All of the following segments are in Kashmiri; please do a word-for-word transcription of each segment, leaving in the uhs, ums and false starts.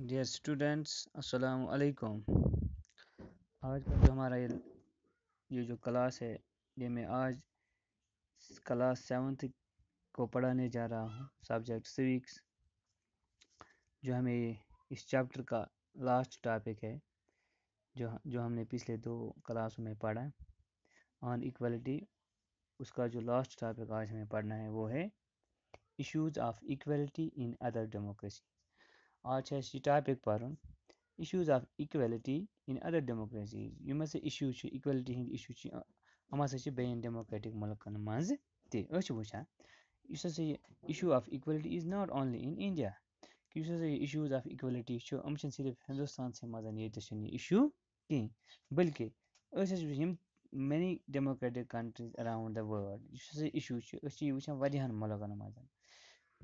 Dear students, السلام علیکم. آج کا جو ہمارا یہ یہ جو کلاس ہے، یہ میں آج کلاس سیونتھ کو پڑھانے جا رہا ہوں، سبجیکٹ سویکس، جو ہمیں اس چیپٹر کا لاسٹ ٹاپک ہے، جو جو ہم نے پچھلے دو کلاسوں میں پڑھا آن ایکویلٹی. اس کا جو لاسٹ ٹاپک آج ہمیں پڑھنا ہے، وہ ہے issues of equality in other democracy. آج چھِ اَسہِ یہِ ٹاپِک پَرُن، issues of equality in other democracies. یِم ہَسا اِشوٗز چھِ، اِکویلٹی ہِنٛدۍ اِشوٗ چھِ، یِم ہَسا چھِ بیٚیَن ڈیموکریٹِک مُلکَن منٛز تہِ. أسۍ چھِ وٕچھان، یُس ہَسا یہِ issue of equality is not only in India. کہِ یُس ہَسا یہِ issues of equality چھُ، یِم چھِنہٕ صرف ہِندُستانسٕے منٛز ییٚتہِ چھِنہٕ یہِ اِشوٗ کِہیٖنۍ، بلکہِ أسۍ ہَسا چھِ وٕچھان یِم many democratic countries around the world. یُس ہَسا اِشوٗ چھُ، أسۍ چھِ یہِ وٕچھان واریاہَن مُلکَن منٛز.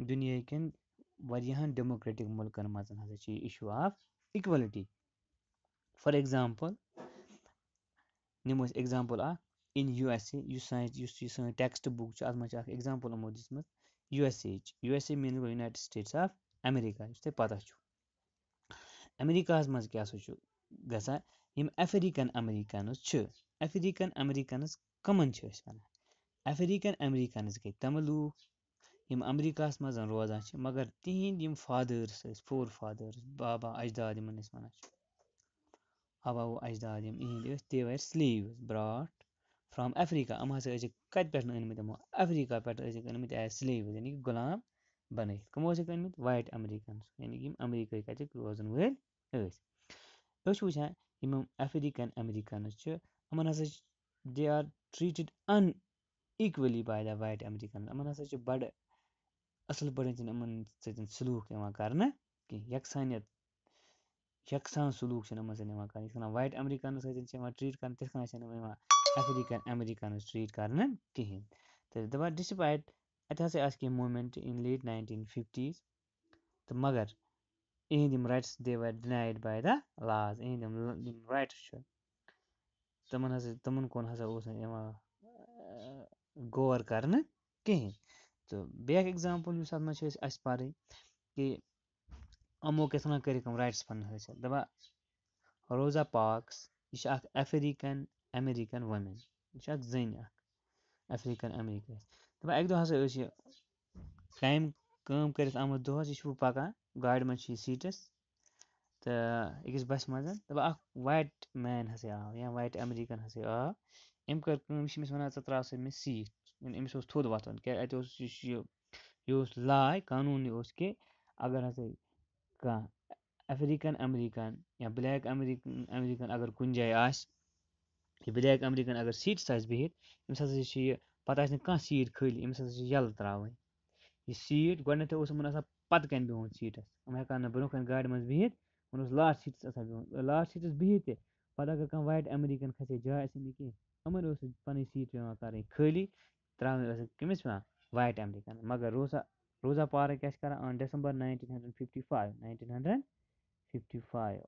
دُنیاہِکٮ۪ن واریاہَن ڈیموکریٹِک مُلکَن منٛز ہَسا چھِ یہِ issue of equality. For example، نِمو أسۍ ایگزامپٕل اَکھ، in USA، یُس سانہِ یُس یہِ سٲنۍ ٹیکسٹ بُک چھِ، اَتھ منٛز چھِ اَکھ ایگزامپٕل یِمو دِژمٕژ USA ہٕچ. USA means گوٚو United States of America، یُس تۄہہِ پَتہ چھُ. امریکاہَس منٛز کیٛاہ سا چھُ گژھان؟ یِم افریقن امریکنز چھِ، افریقن امریکنز کٕمن چھِ أسۍ وَنان؟ افریقن امریکنز گٔے تِم لوٗکھ یِم امریکاہَس منٛز روزان چھِ، مگر تِہِنٛدۍ یِم فادٲرٕس ٲسۍ، فور فادٲرٕس، بابا اجداد یِمن أسۍ وَنان چھِ، آبا و اجداد یِم یِہِنٛدۍ ٲسۍ، they were slaves brought from Africa. یِم ہسا ٲسِکھ کَتہِ پٮ۪ٹھ أنمٕتۍ یِمو؟ افریقہ پٮ۪ٹھ ٲسِکھ أنمٕتۍ as slaves، یعنی کہِ غلام بَنٲیِتھ. کٕمو ٲسِکھ أنمٕتۍ؟ White Americans، یعنی کہِ یِم امریکہٕکۍ کَتِکۍ روزَن وٲلۍ ٲسۍ. أسۍ چھِ وٕچھان یِم افریقن امریکنز چھِ، یِمن ہسا چھِ they are treated unequally by the white Americans. یِمن ہسا چھِ بڑٕ اَصٕل پٲٹھۍ چھِنہٕ یِمن سۭتۍ سلوٗک یِوان کرنہٕ کینٛہہ، یکسانیت، یکسان سلوٗک چھِنہٕ یِمن سۭتۍ یِوان کرنہٕ. یِتھ کٔنۍ white Americans سۭتۍ چھِ یِوان treat کرنہٕ، تِتھ کٔنۍ چھِنہٕ یِوان افریقن امریکنز treat کرنہٕ کِہینۍ. تہٕ دَپان despite اَتہِ ہسا آسہٕ کینٛہہ movement in late nineteen fifties، تہٕ مگر یِہِنٛدۍ یِم rights they were denied by the laws. یِہِنٛدۍ یِم یِم rights چھِ، تِمَن ہسا تِمَن کُن ہسا اوس نہٕ یِوان، آ، غور کرنہٕ کِہیٖنۍ. تہٕ بیٛاکھ ایگزامپٕل یُس اَتھ منٛز چھِ أسۍ اَسہِ پَرٕنۍ کہِ یِمو کِتھ کٔنۍ کٔرِکھ یِم rights پَنٕنۍ حٲصِل. دَپان روزا پارکس، یہِ چھِ اَکھ افریقن امریکن woman، یہِ چھِ اَکھ زٔنۍ اَکھ افریقن امریکن. دَپان اَکہِ دۄہ ہسا ٲس یہِ کامہِ کٲم کٔرِتھ آمٕژ دۄہَس، یہِ چھُ پَکان، گاڑِ منٛز چھِ یہِ seat َس تہٕ أکِس بَسہِ منٛز، دَپان اَکھ white man ہسا آو یا white American ہسا آو. أمۍ کٔر کٲم، یہِ چھِ أمِس وَنان، "ژٕ ترٛاو سا مےٚ seat." یعنی أمِس اوس تھوٚد وۄتھُن، کیٛازِ اَتہِ اوس یُس یہِ، یہِ اوس law، قانوٗن یہِ اوس کہِ اگر ہسا کانٛہہ افریقن امریکن یا black American، American اگر کُنہِ جایہِ آسہِ، یہِ black American اگر seat َس آسہِ بِہِتھ، أمِس ہسا چھِ یہِ، پَتہٕ آسہِ نہٕ کانٛہہ seat خٲلی، أمِس ہسا چھِ یَلہٕ ترٛاوٕنۍ. یہِ seat گۄڈٕنٮ۪تھٕے اوس یِمَن آسان پَتہٕ کَنۍ بِہُن seat َس، یِم ہٮ۪کان نہٕ برٛونٛہہ کَنۍ گاڑِ منٛز بِہِتھ، یِمَن اوس last seat َس آسان بِہُن. Last seat َس بِہِتھ تہِ، پَتہٕ اگر کانٛہہ white American کھسہِ ہے جاے آسہِ نہٕ کینٛہہ، یِمَن اوس پَنٕنۍ seat پٮ۪وان کَرٕنۍ خٲلی، ترٛاوٕنۍ ٲسٕکھ کٔمِس پٮ۪وان؟ White American. مگر روزا روزا پارک کیٛاہ چھِ کَران؟ On December nineteen hundred fifty five، nineteen hundred fifty five،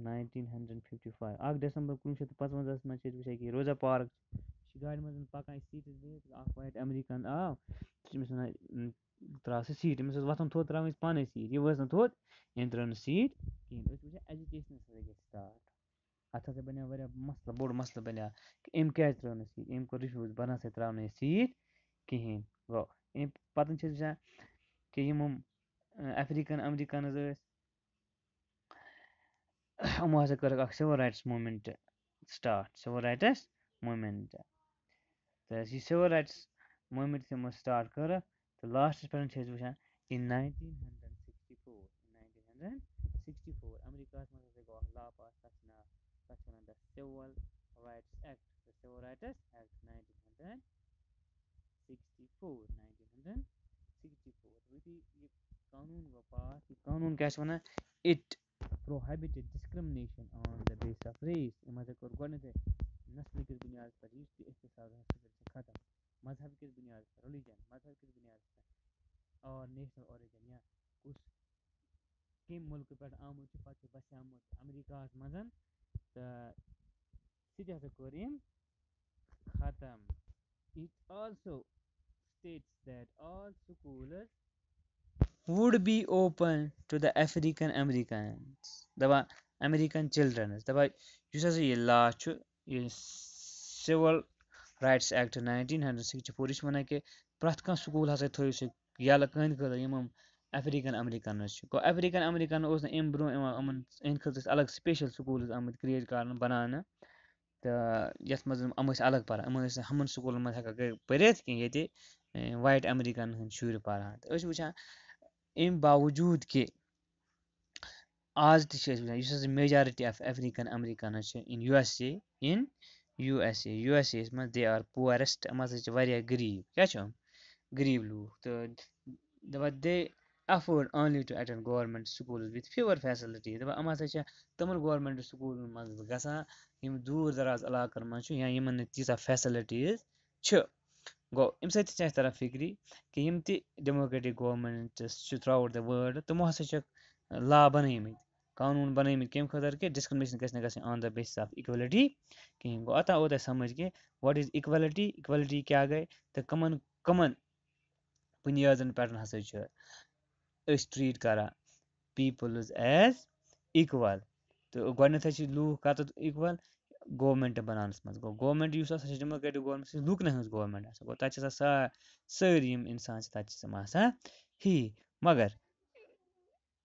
nineteen hundred fifty five، اَکھ دسمبر کُنوُہ شیٚتھ تہٕ پانٛژوَنزاہَس منٛز چھِ أسۍ وٕچھان کہِ روزا پارک چھِ گاڑِ منٛز پَکان، یہِ seat َس بِہِتھ، اَکھ white American آو، سُہ چھِ أمِس وَنان، "ترٛاو سا seat." أمِس ٲس وۄتھُن تھوٚد، ترٛاوٕنۍ ٲس پانَے seat، یہِ ؤژھ نہٕ تھوٚد، أمۍ ترٛٲو نہٕ seat کِہیٖنۍ. أسۍ چھِ وٕچھان agitation ہسا گژھِ start. اَتھ ہسا بَنیو واریاہ مسلہٕ، بوٚڑ مسلہٕ بَنیو کہِ أمۍ کیٛازِ ترٛٲو نہٕ seat، أمۍ کوٚر refuse، بہٕ نہ سا ترٛاوٕ نہٕ یہِ seat کِہیٖنۍ. گوٚو، أمۍ پَتہٕ چھِ أسۍ وٕچھان کہِ یِم، یِم African Americans ٲسۍ، یِمو ہسا کٔرٕکھ اَکھ civil rights movement start، civil rights movement. تہٕ یہِ civil rights movement یِمو start کٔرٕکھ، تہٕ last َس پٮ۪ٹھ چھِ أسۍ وٕچھان in nineteen hundred sixty four، in nineteen hundred sixty four، امریکاہَس منٛز ہسا گوٚو اَکھ law pass، تَتھ چھِ ناو، تَتھ چھِ وَنان the Civil Rights Act، the Civil Rights Act nineteen hundred sixty four، nineteen hundred sixty four. یُتھُے یہِ قانوٗن گوٚو pass، یہِ قانوٗن کیٛاہ چھِ وَنان؟ It prohibited discrimination on the basis of race. أمۍ ہسا کوٚر گۄڈٕنیتھٕے نسلہٕ کِس بُنیادَس پٮ۪ٹھ یُس تہِ احتساب ہسا کٔرِتھ ختم۔ مذہب کِس بُنیادَس پٮ۪ٹھ، religion، مذہب کِس بُنیادَس پٮ۪ٹھ، or national origin، یا کُس کَمہِ مُلکہٕ پٮ۪ٹھ آمُت چھُ، پَتہٕ چھُ بَسیومُت امریکاہَس منٛز، تہٕ سُہ تہِ ہسا کوٚر أمۍ ختم۔ It also states that all schools would be open to the African Americans. دَپان American childrens، دَپان یُس ہسا یہِ law چھُ، یہِ Civil Rights Act nineteen hundred sixty four، یہِ چھُ وَنان کہِ پرٛٮ۪تھ کانٛہہ سکوٗل ہسا تھٲیِو سُہ یَلہٕ کٕہٕنٛدِ خٲطرٕ یِم یِم African Americans چھِ۔ گوٚو African American اوس نہٕ اَمہِ برٛونٛہہ یِوان یِمَن، یِہٕنٛدِ خٲطرٕ ٲسۍ الگ special schools آمٕتۍ create کرنہٕ، بَناونہٕ۔ تہٕ یَتھ منٛز یِم، یِم ٲسۍ الگ پَران، یِمَن ٲسۍ نہٕ ہُمَن سکوٗلَن منٛز ہٮ۪کان کٔرِتھ کینٛہہ، ییٚتہِ، اے، white Americanن ہٕنٛدۍ شُرۍ پَران۔ تہٕ أسۍ چھِ وٕچھان، اَمہِ باوجوٗد کہِ آز تہِ چھِ أسۍ وٕچھان، یُس ہسا majority of African Americans چھِ in U S A، in U S A، U S A یَس منٛز they are poorest، یِم ہسا چھِ واریاہ غریٖب۔ کیٛاہ چھِ یِم؟ غریٖب لوٗکھ۔ تہٕ دَپان they afford only to attend government schools with fewer facilities۔ دَپان یِم ہسا چھِ تِمَن government سکوٗلَن منٛز گژھان، یِم دوٗر دراز علاقَن منٛز چھِ یا یِمَن نہٕ تیٖژاہ facilities چھِ۔ گوٚو، اَمہِ سۭتۍ تہِ چھِ اَسہِ تَران فِکرِ کہِ یِم تہِ democratic governments چھِ throughout the world، تِمو ہسا چھِ law بَنٲومٕتۍ، قانوٗن بَنٲومٕتۍ کَمہِ خٲطرٕ کہِ discrimination گژھِ نہٕ گژھٕنۍ on the basis of equality کِہیٖنۍ۔ گوٚو، اَتھ آو تۄہہِ سَمٕجھ کہِ what is equality، equality کیٛاہ گٔے تہٕ کَمَن کَمَن بُنیادَن پٮ۪ٹھ ہسا چھِ أسۍ treat کران peoples as equal۔ تہٕ گۄڈٕنٮ۪تھ حظ چھِ لوٗکھ کَتَتھ equal؟ Government بَناونَس منٛز۔ گوٚو، government یُس آسان چھِ democratic government، سُہ چھِ لوٗکَن ہٕنٛز government آسان۔ گوٚو، تَتہِ چھِ آسان سا-، سٲری یِم اِنسان چھِ، تَتہِ چھِ تِم آسان ہی۔ مگر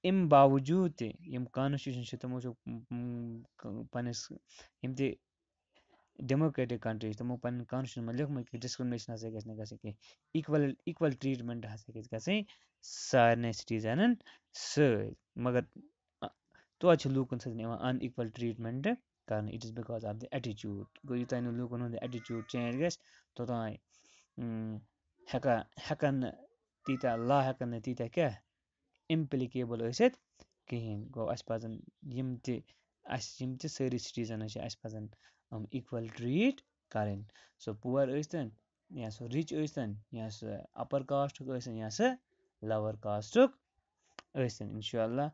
اَمہِ باوجوٗد تہِ یِم constitution چھِ، تِمو چھُ، م، م، ک-، پنٛنِس، یِم تہِ democratic country چھِ، تِمو پنٛنٮ۪ن constitution منٛز لیوٗکھمُت کہِ discrimination ہسا گژھِ نہٕ گژھٕنۍ کینٛہہ، equal، equal treatment ہسا گژھِ گژھٕنۍ سارنٕے citizenن سۭتۍ۔ مگر، آ، توتہِ چھِ لوٗکَن سۭتۍ یِوان unequal treatment کرنہٕ۔ It is because of the attitude۔ گوٚو، یوٚتام نہٕ لوٗکَن ہُنٛد attitude change گژھِ، توٚتام، م، ہٮ۪کان، ہٮ۪کَن نہٕ تیٖتیٛاہ law، ہٮ۪کَن نہٕ تیٖتیٛاہ کیٛاہ، applicable ٲسِتھ کِہیٖنۍ۔ گوٚو، اَسہِ پَزَن یِم تہِ، اَسہِ یِم تہِ سٲری citizen چھِ، اَسہِ پَزَن یِم equal treat کَرٕنۍ۔ سُہ poor ٲسۍتَن، یا سُہ rich ٲسۍتَن، یا سُہ upper casteُک ٲسۍتَن، یا سُہ lower casteُک ٲسۍتَن۔ اِنشاء اللہ،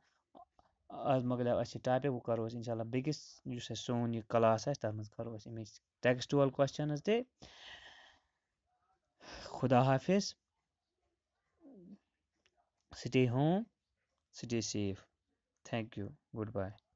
آز مۄکلیو اَسہِ یہِ topic، وۄنۍ کَرو أسۍ اِنشاء اللہ بیٚکِس، یُس اَسہِ سون یہِ class آسہِ، تَتھ منٛز کَرو أسۍ اَمِچ textual questions تہِ۔ خدا حافظ۔ Stay home, stay safe. Thank you. Goodbye.